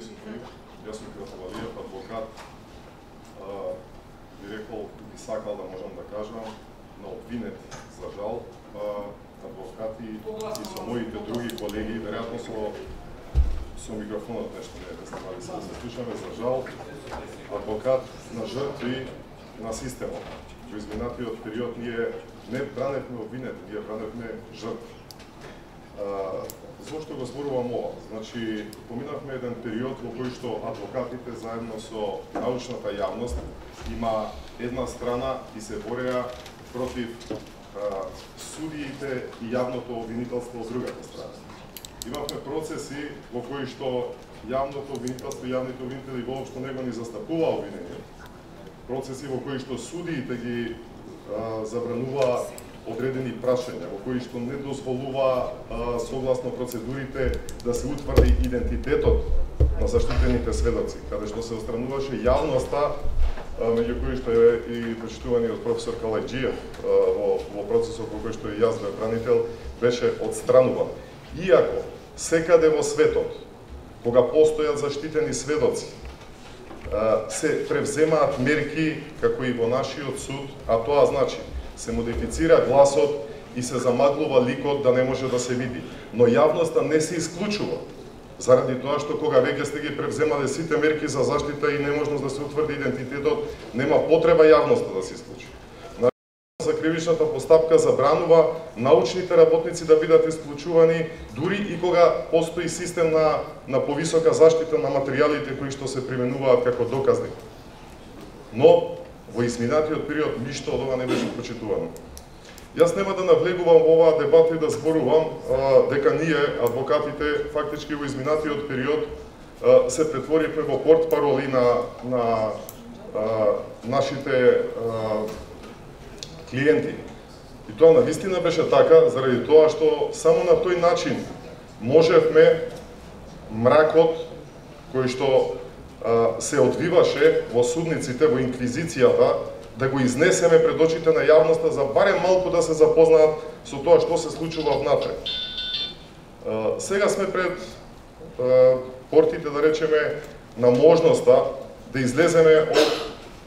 присутни. Јас сум Кратовалиев, адвокат. Би рекол, би сакал да можам да кажам, на обвинет, за жал, адвокати и со моите други колеги, веројатно со микрофонот нешто не е станали се да се слушаме, за жал, адвокат на жртви на системот. Во изминатиот период ние не браневме обвинет, ние браневме жртви. Зошто го зборувам ова? Значи, поминавме еден период во кој што адвокатите заедно со научната јавност има една страна и се бореа против судиите и јавното обвинителство од другата страна. Имавме процеси во кои што јавното обвинителство и јавните обвинители воопшто не го ни застапува обвинение. Процеси во кои што судиите ги забранува одредени прашања, во кои што не дозволува согласно процедурите да се утврди идентитетот на заштитените сведоци, каде што се отстрануваше јавноста, меѓу кои што е и почитуваниот професор Калајџиев во процесот во кој што и јас бев бранител, беше отстрануван. Иако секаде во светот, кога постојат заштитени сведоци, се превземаат мерки како и во нашиот суд, а тоа значи се модифицира гласот и се замаглува ликот да не може да се види. Но јавноста не се исклучува, заради тоа што кога веќе сте ги превземале сите мерки за заштита и неможност да се утврди идентитетот, нема потреба јавноста да се исклучи. За кривичната постапка забранува научните работници да бидат исклучувани, дури и кога постои систем на повисока заштита на материјалите кои што се применуваат како доказни. Но во изминатиот период ништо од ова не беше почитувано. Јас нема да навлегувам во оваа дебата и да зборувам дека ние, адвокатите, фактички во изминатиот период се претворивме во портпароли на нашите клиенти. И тоа навистина беше така, заради тоа што само на тој начин можевме мракот кој што се одвиваше во судниците, во инквизицијата, да го изнесеме пред очите на јавноста за барем малку да се запознаат со тоа што се случува внатре. Сега сме пред портите, да речеме, на можноста да излеземе од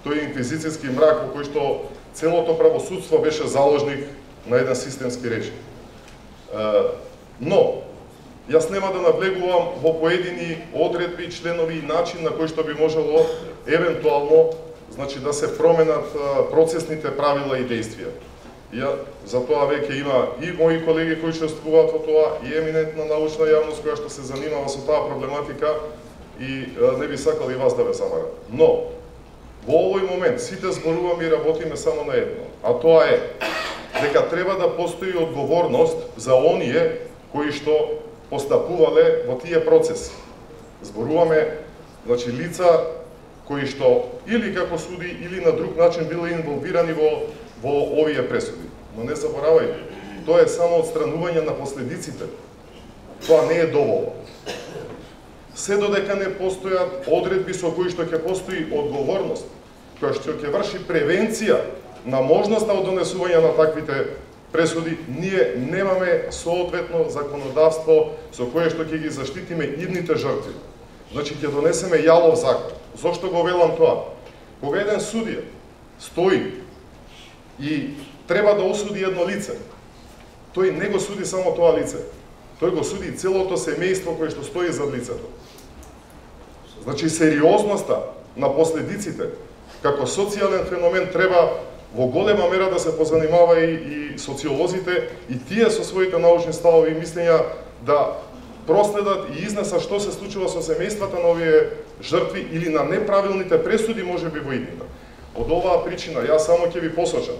тој инквизицијски мрак во кој што целото правосудство беше заложник на еден системски режим. Но јас нема да навлегувам во поедини одредби, членови и начин на кој што би можело евентуално, значи, да се променат процесните правила и действија. За тоа веќе има и мои колеги кои учествуваат во тоа, и еминентна научна јавност која што се занимава со таа проблематика и не би сакал и вас да ве замарам. Но во овој момент сите зборуваме и работиме само на едно, а тоа е дека треба да постои одговорност за оние кои што постапувале во тие процеси. Зборуваме, значи, лица кои што или како суди, или на друг начин биле инволвирани во овие пресуди. Но не заборавајте, тоа е само отстранување на последиците. Тоа не е доволно. Се додека не постојат одредби со кои што ќе постои одговорност, која што ќе врши превенција на можноста од донесување на таквите пресуди, ние немаме соодветно законодавство со кое што ќе ги заштитиме идните жртви. Значи, ќе донесеме јалов закон. Зошто го велам тоа? Кога еден судија стои и треба да осуди едно лице, тој не го суди само тоа лице, тој го суди целото семејство кое што стои зад лицето. Значи, сериозноста на последиците како социјален феномен треба во голема мера да се позанимава и социолозите, и тие со своите научни ставови и мислења да проследат и изнесат што се случува со семејствата на овие жртви или на неправилните пресуди можеби во иднина. Од оваа причина јас само ќе ви посочам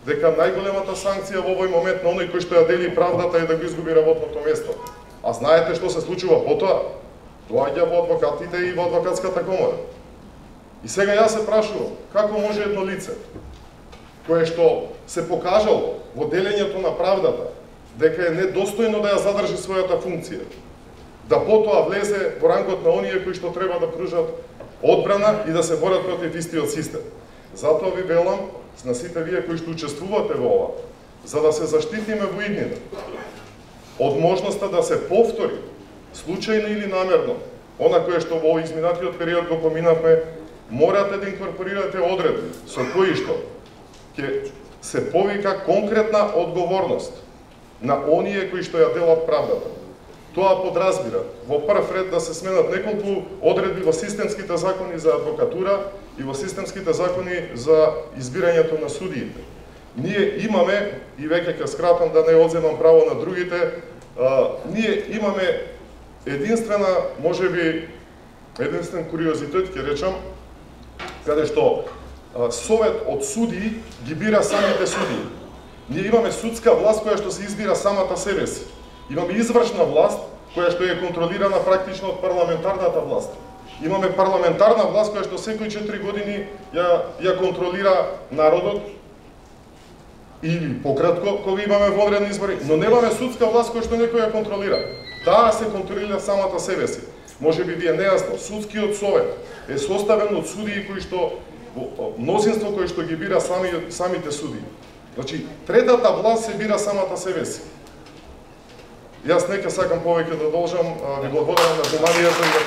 дека најголемата санкција во овој момент на оној кој што ја дели правдата е да го изгуби работното место. А знаете што се случува потоа? Доаѓа во адвокатите и во адвокатската комора. И сега јас се прашувам, како може едно лице кое што се покажало во делењето на правдата дека е недостојно да ја задржи својата функција, да потоа влезе во рангот на оние кои што треба да пружат одбрана и да се борат против истиот систем. Затоа ви велам на сите вие кои што учествувате во ова, за да се заштитиме во иднина од можноста да се повтори случајно или намерно она кое што во изминатиот период го поминавме, морате да инкорпорирате одредби со кои што ќе се повика конкретна одговорност на оние кои што ја делат правдата. Тоа подразбира во прв ред да се сменат неколку одредби во системските закони за адвокатура и во системските закони за избирањето на судиите. Ние имаме, и веќе ќе скратам да не одземам право на другите, ние имаме единствен куриозитет, ќе речам, каде што совет од судии ги бира самите судии. Ние имаме судска власт која што се избира самата себе си. Имаме извршна власт која што е контролирана практично од парламентарната власт. Имаме парламентарна власт која што секои 4 години ја контролира народот или пократко кога имаме вонредни избори, но немаме судска власт која што некој ја контролира. Таа се контролира самата себе си. Може би ви е нејасно, судскиот совет е составен од судии кои што мнозинство кои што ги бира самите судии. Значи, третата власт се бира самата себе си. Јас не ќе сакам повеќе да должам, ви благодарам на вниманието и да